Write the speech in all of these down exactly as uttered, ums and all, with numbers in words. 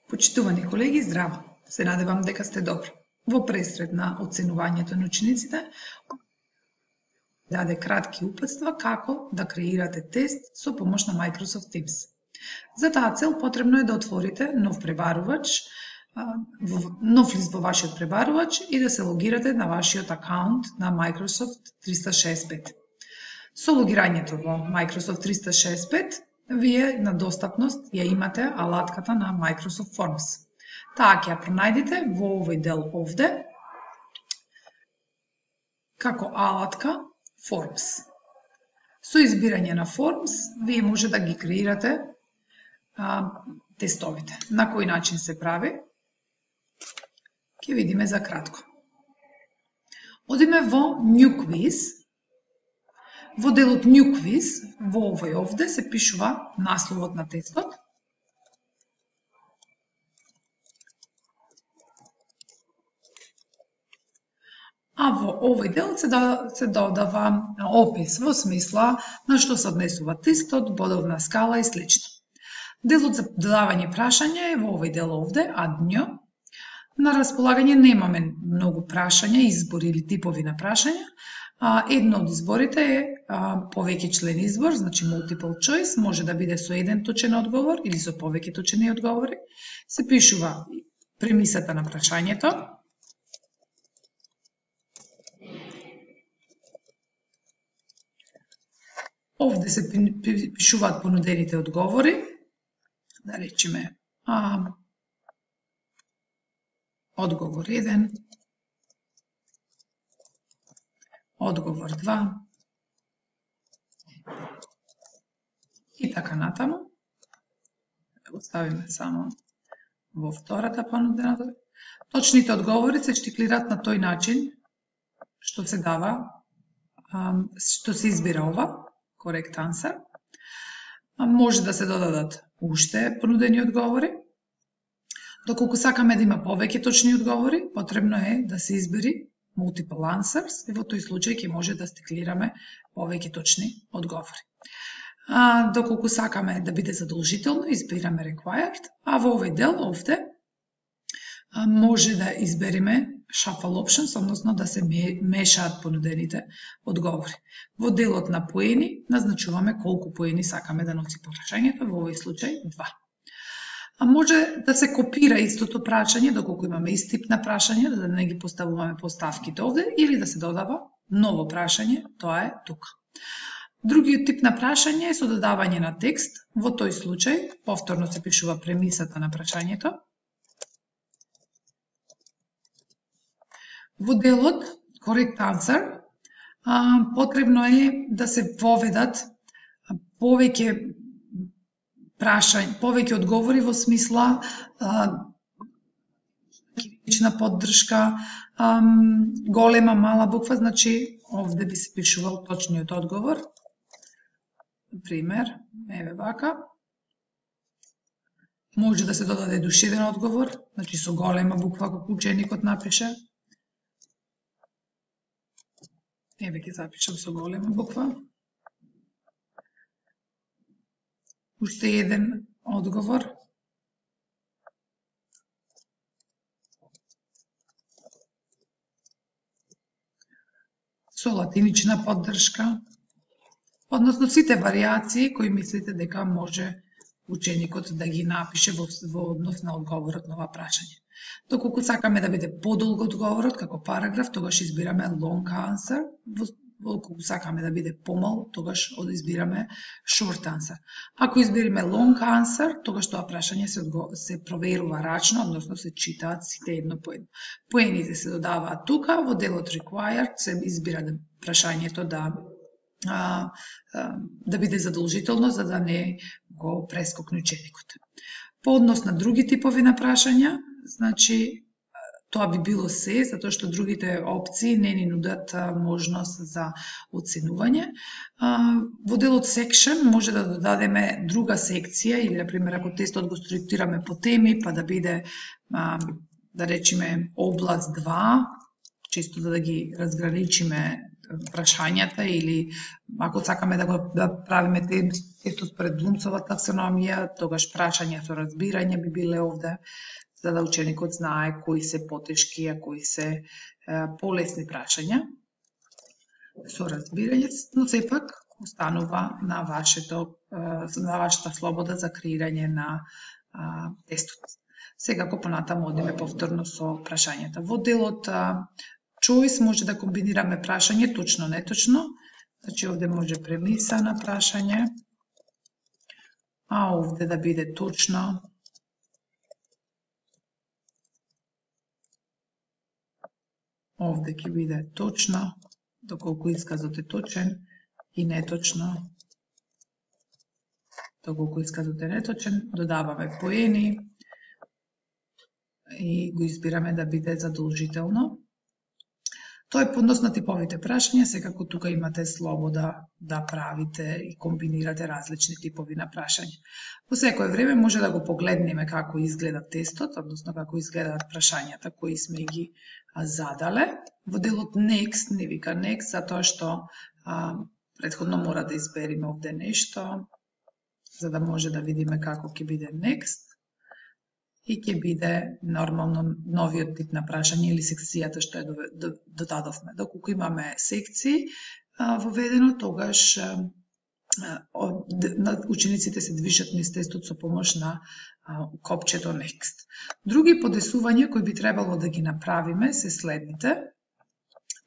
Почитувани колеги, здраво! Се надевам дека сте добро. Во пресред на оценувањето на учениците, даде кратки упатства како да креирате тест со помош на Microsoft Teams. За таа цел потребно е да отворите нов пребарувач, нов лист во вашиот пребарувач и да се логирате на вашиот акаунт на Microsoft триста шеесет и пет. Со логирањето во Microsoft триста шеесет и пет, вие на достапност ја имате алатката на Microsoft Forms. Таа ќе ја пронајдете во овој дел овде, како алатка Forms. Со избирање на Forms, вие може да ги креирате а, тестовите. На кој начин се прави? Ќе видиме за кратко. Одиме во New Quiz. Во делот New Quiz, во овој овде, се пишува насловот на тестот. А во овој дел се, да, се додава опис во смисла на што се однесува тестот, бодовна скала и слично. Делот за додавање прашања е во овој дел овде, адњо. На располагање немаме многу прашања, избори или типови на прашања. Едно од изборите е повеќе член избор, значи multiple choice, може да биде со еден точен одговор или со повеќе точени одговори. Се пишува премисата на прашањето. Овде се пишуваат понудените одговори. Да речеме а, одговор еден, одговор два и така натаму. Го ставиме само во втората понудена. Точните одговори се штиклираат на тој начин што се дава, што се избира ова, correct answer. Може да се додадат уште понудени одговори. Доколку сакаме да има повеќе точни одговори, потребно е да се избери multiple answers и во тој случај ќе може да стиклираме повеќе точни одговори. А, доколку сакаме да биде задолжително, избираме required, а во овој дел овде а, може да избериме shuffle options, односно да се мешаат понудените одговори. Во делот на поени назначуваме колку поени сакаме да носи прашањето, во овој случај два. А може да се копира истото прашање, доколку имаме ист тип на прашање, да не ги поставуваме поставките овде, или да се додава ново прашање, тоа е тука. Другиот тип на прашање е со додавање на текст. Во тој случај, повторно се пишува премисата на прашањето. Во делот correct answer, потребно е да се воведат повеќе прашања, повеќе одговори во смисла лична поддршка, а, голема, мала буква, значи овде би се пишувал точниот одговор. Пример, еве вака. Може да се додаде душевен одговор, значи со голема буква како ученикот напише. Еве ќе запишам со голема буква. Уште еден одговор. Со латинична поддршка. Односно сите варијации кои мислите дека може ученикот да ги напише во, во однос на одговорот на ова прашање. Доколку сакаме да биде подолго одговорот како параграф, тогаш избираме long answer. Доколку сакаме да биде помал, тогаш избираме short answer. Ако избериме long answer, тогаш тоа прашање се, се проверува рачно, односно се читаат сите едно по едно. Поените се додаваат тука, во делот required се избира прашањето да, а, а, да биде задолжително, за да не го прескокне ученикот. По однос на други типови на прашања, значи тоа би било се, затоа што другите опции не ни нудат можност за оценување. Во делот section може да додадеме друга секција, или, например, ако тестот го структурираме по теми, па да биде, да речеме, област два, чисто да ги разграничиме прашањата или ако сакаме да го да правиме тестот според Блумцова таксономија, тогаш прашања со разбирање би биле овде, за да ученикот знае кои се потешки, а кои се полесни прашања со разбирање, но сепак останува на вашето на вашата слобода за креирање на а, тестот. Сега ако понатаму одиме повторно со прашањата. Во делот choice може да комбинираме прашање точно неточно. Значи овде може премиса на прашање, а овде да биде точно. Овде ќе биде точно, доколку исказот е точен, и неточно, доколку исказот е неточен, додаваме поени и го избираме да биде задолжително. Тоа е по однос на типовите прашања, секако тука имате слобода да правите и комбинирате различни типови на прашања. Во секое време може да го погледнеме како изгледа тестот, односно како изгледаат прашањата кои сме ги задале. Во делот Next не вика Next, затоа што а, предходно мора да избериме овде нешто, за да може да видиме како ќе биде Next. И ќе биде нормално новиот тип на прашање или секцијата што ја додадовме. Доколку имаме секции воведено, тогаш учениците се движат низ тестот со помош на копчето Next. Други подесувања кои би требало да ги направиме се следните.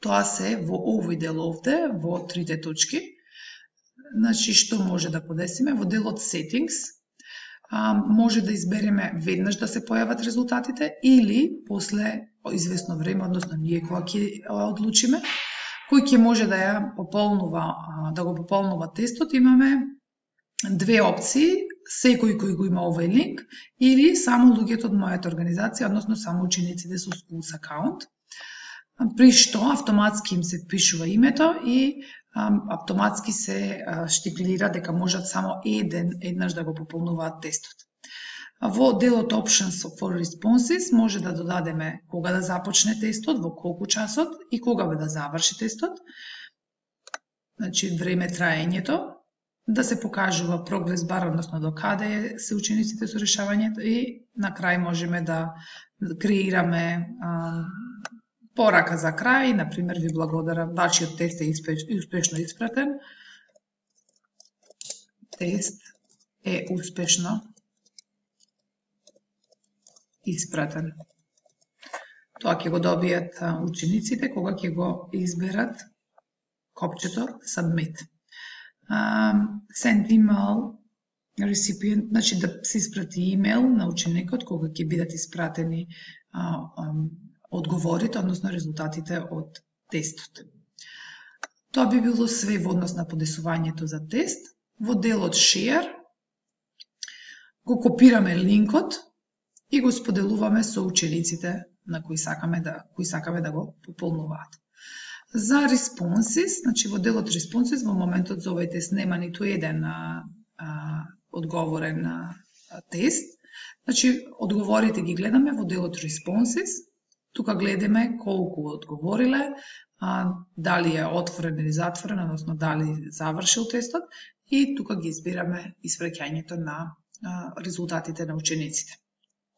Тоа се во овој дел овде, во трите точки. Значи, што може да подесиме? Во делот Settings, може да избереме веднаш да се појават резултатите или после известно време, односно ние кога ќе одлучиме, кој ќе може да ја пополнува, да го пополнува тестот, имаме две опции, секој кој го има овој линк или само луѓето од мојата организација, односно само учениците со Schools акаунт, при што автоматски им се впишува името и автоматски се штиклира дека можат само еден еднаш да го пополнуваат тестот. Во делот Options for Responses може да додадеме кога да започне тестот, во колку часот и кога да заврши тестот. Значи време траењето, да се покажува прогрес бар, односно до каде се учениците со решавањето и на крај можеме да креираме порака за крај, например, ви благодарам, вашиот тест е успешно испратен. Тест е успешно испратен. Тоа ќе го добијат учениците кога ќе го изберат копчето Submit. Um, send email recipient, значи да се испрати имейл на ученикот кога ќе бидат испратени uh, um, одговорите, односно резултатите од тестот. Тоа би било све во однос на подесувањето за тест. Во делот Share го копираме линкот и го споделуваме со учениците на кои сакаме да, кои сакаме да го пополнуваат. За Responses, значи во делот Responses во моментот за овој тест нема ниту еден а, а, одговорен а, тест. Значи одговорите ги гледаме во делот Responses. Тука гледаме колку одговориле, а, дали е отворен или затворен, односно дали завршил тестот и тука ги избираме испраќањето на а, резултатите на учениците.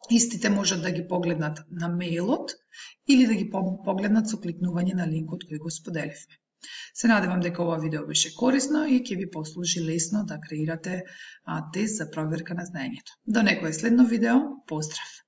Истите можат да ги погледнат на мејлот или да ги погледнат со кликнување на линкот кој го споделивме. Се надевам дека ова видео беше корисно и ќе ви послужи лесно да креирате а, тест за проверка на знаењето. До некое следно видео, поздрав!